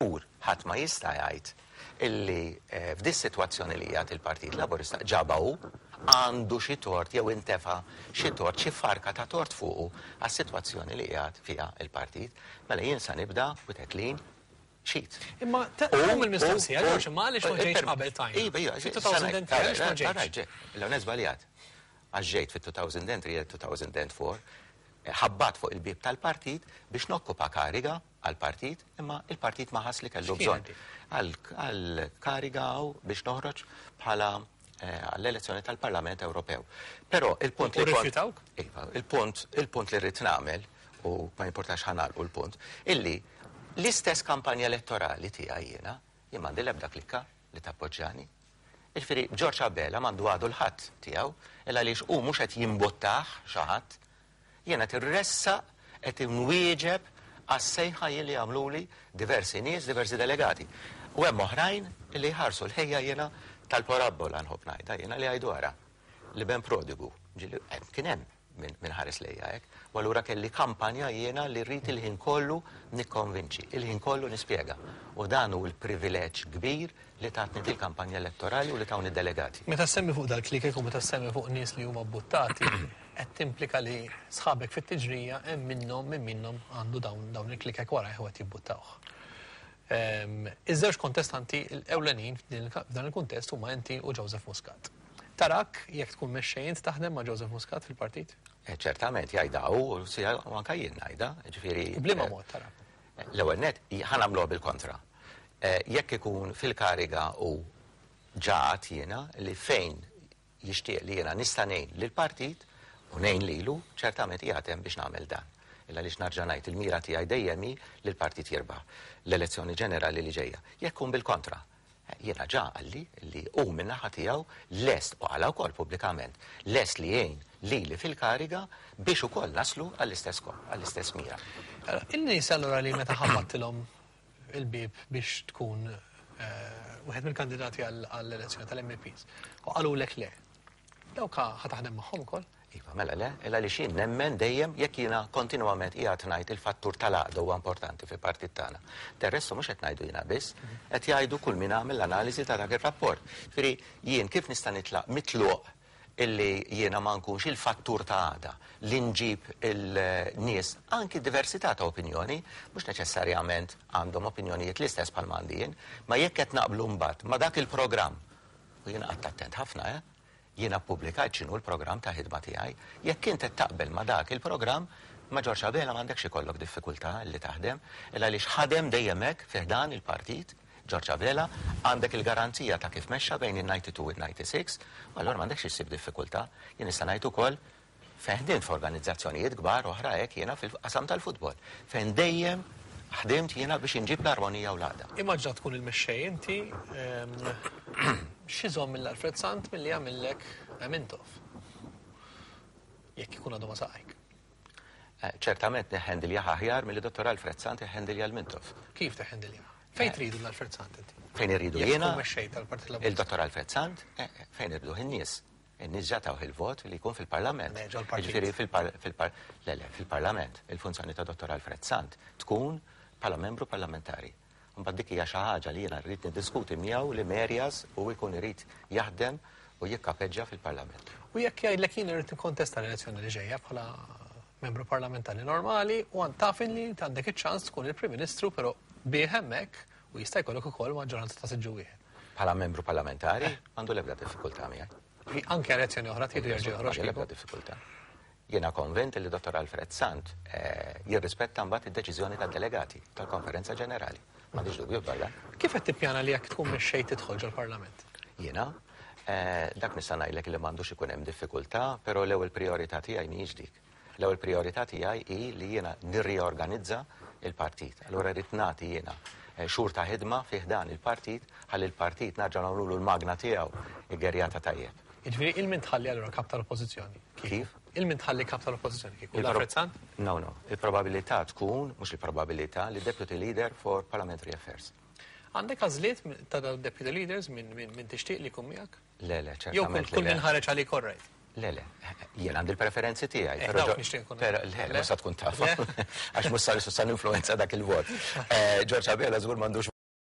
Żgur ħadd ma jista' jgħid illi f'dis-sitwazzjoni li qiegħed il-Partit Laburista ġabha hu, għandu xi tort jew intefa' xi tort, xi farka ta' tort fuqu għas-sitwazzjoni li qiegħed fiha l-partit. Mela jien sa nibda with a clean sheet. Imma tqum il-mistoqsija, George, imma għaliex ma ġejtx qabel tajna? Iva, iva, Fit-2003 għaliex ma ġejtx? L-ewwel żbaljat. Għax ġejt fit-2003 jew 2004, ħabbat fuq il-bieb tal-partit biex nokkupa kariga għall-partit, imma il-partit ma ħass li kellu bżonn. Għal kariga hawn biex noħroġ bħala eh, għall-elezzjoni tal-Parlament Ewropew. Però il-punt li rifjutawk? Iva, il-punt il-punt li rrid nagħmel u ma jimportax ħanalqu l-punt, illi l-istess kampanja elettorali tiegħi jiena, jien m'għandi l-ebda klikka li tappoġġjani. Jiġifieri George Abela m'għandu għadu l-ħadd tiegħu, illa għaliex hu mhux qed jimbuttah xi ħadd, Jien qed irressaq, qed inwieġeb għas-sejħa jien li għamluli diversi nies, diversi delegati. U hemm oħrajn li jħarsu l-ħejja jiena tal-parabbola nħobb ngħidha jiena li jgħidu ara, l-iben prodigu, ġieli kien hemm min ħares lejja hekk, u allura kelli kampanja jiena li rrid il-ħin kollu nikkonvinċi, il-ħin kollu nispjega. U dan hu l-privileġġ kbir li tatni dil-kampanja elettorali u li tawni d-delegati. Meta ssemmi fuq dal-klikek u meta ssemmi fuq nies li huma bbuttati, qed timplika li sħabek fit-tiġrija hemm minnhom min minnhom għandu dawn dawn il-klikek warajh u qed jibbuttawh. Ehm, iż-żewġ kontestanti l-ewlenin f'dan il-kuntest huma inti u Joseph Muscat. Tarak jekk tkun mexxej int taħdem ma' Joseph Muscat fil-partit? Eh, ċertament jgħidha hu u anke jien ngħidha, ġifieri. Bliema mod tarak? L-ewwel nett, ħa nagħmluha bil-kontra. Jekk ikun fil-kariga u ġa għadt jiena li fejn jixtieq li jiena nista' ngħin lill-partit u ngħin lilu, ċertament qiegħed hemm biex nagħmel dan. Illa għaliex narġa' ngħid il-mira tiegħi dejjem hi li l-partit jirbaħ l-elezzjoni ġenerali li ġejja. Jekk ikun bil-kontra, Jiena ġa qalli li hu min-naħa tiegħu lest, u qalha wkoll pubblikament, lest li jgħin lili fil-kariga biex ukoll naslu għall-istess skop, għall-istess mira. In-nies allura li meta ħabbattilhom il-bieb biex tkun wieħed mill-kandidati għall-elezzjoni tal-MEPs u qalulek le, Dawk ħa taħdem magħhom ukoll? Iva, mela le, illa għaliex jien nemmen dejjem jekk jiena kontinwament qiegħed ngħid il-fattur tal-għaqda huwa importanti fil-partit tagħna. Del resto mhux qed ngħidu jiena biss, qed jgħidu kull min għamel l-analiżi ta' dak ir-rapport. Ġifieri jien kif nista' nitlaq mitluq illi jiena ma nkunx il-fattur ta' għaqda li nġib il-nies anki diversità ta' opinjoni, mhux neċessarjament għandhom opinjonijiet l-istess bħalma għandi jien, ma jekk qed naqblu mbagħad ma' dak il-programm U jiena qgħadt attent ħafna, eh. Jiena ppubblikajt x'inhu l-programm ta' ħidma tiegħi. Jekk int qed taqbel ma' dak il-programm, ma' George Abela m'għandekx ikollok diffikultà li taħdem, il għaliex ħadem dejjem hekk fi ħdan il-partit, George Abela, għandek il-garanzija ta' kif mexxa bejn in-92 u n-96, u allura m'għandekx issib diffikultà. Jien nista' ngħid ukoll Fejn ħdimt f'organizzazzjonijiet kbar oħra hekk jiena fil-qasam tal-futbol, fejn dejjem ħdimt jiena biex inġib l-armonija u l-għaqda. Immaġina tkun il-mexxej inti, x'iżomm lil Alfred Sant milli jagħmillek Mintoff? Jekk ikun għadu ma' saqajk. Ċertament neħħendiljah aħjar milli Dottor Alfred Sant iħħendilja l-Mintoff. Kif teħħendiljah? Fejn tridu l Alfred Sant inti? Fejn irridu jiena? Jekk tkun mexxej tal-Partit Laburista. Il-Dottor Alfred Sant, fejn irriduh in-nies. In-nies ġa tawh il-vot li jkun fil-Parlament. Le, ġol-partit. Jiġifieri fil-par, le, le, fil-Parlament. Il-funzjoni ta' Dottor Alfred Sant tkun bħala membru parlamentari. Imbagħad dik hija xi ħaġa li jiena rrid niddiskuti miegħu liema areas hu jkun irid jaħdem u jikkapeġġa fil-Parlament. U jekk jgħidlek jien irrid nikkontesta l-elezzjoni li ġejja bħala membru parlamentari normali u taf li inti għandek iċ-ċans tkun il-Prim Ministru però bih hemmhekk u jista' jkollok ukoll maġġoranza ta' siġġu wieħed. Bħala membru parlamentari, m'għandu l-ebda diffikultà miegħi. Anke elezzjoni oħra tridu jerġa' joħroġ. M'għandu l-ebda diffikultà. Jiena konvint li Dottor Alfred Sant eh, jirrispetta mbagħad id-deċiżjoni tad-delegati tal-Konferenza Ġenerali. M'għandix dubju dwar dan. Kif qed tippjana li jekk tkun mexxej tidħol ġol-Parlament? Jiena eh, dak nista' ngħidlek li m'għandux ikun hemm diffikultà, però l-ewwel priorità tiegħi mhijiex dik. L-ewwel prijorità tiegħi hi li jiena nirriorganizza l-partit. Allura rrid nagħti jiena xhur ta' ħidma fi ħdan il-partit ħalli l-partit narġa' nagħmlulu l-magna tiegħu iggerjata tajjeb. Jiġifieri 'il min tħalli allura kap tal-Oppożizzjoni? Kif? Il min tħalli kap tal-Oppożizzjoni kieku? L-Alfred Sant? No, no. Il-probabilità tkun, mhux il-probabilità, li Deputy Leader for Parliamentary Affairs. Għandek għażliet ta' dawn deputy leaders min tixtieq li jkun miegħek? Le, le, ċertament. Jew kull min ħareġ għalik all right? Le, le, jien għandi l-preferenzi tiegħi. Eh, dawk nixtieq nkun. Però le, mhux sa tkun taf. Għax mhux sa sa ninfluwenza dak il-vot. Eh, George Abela żgur m'għandux.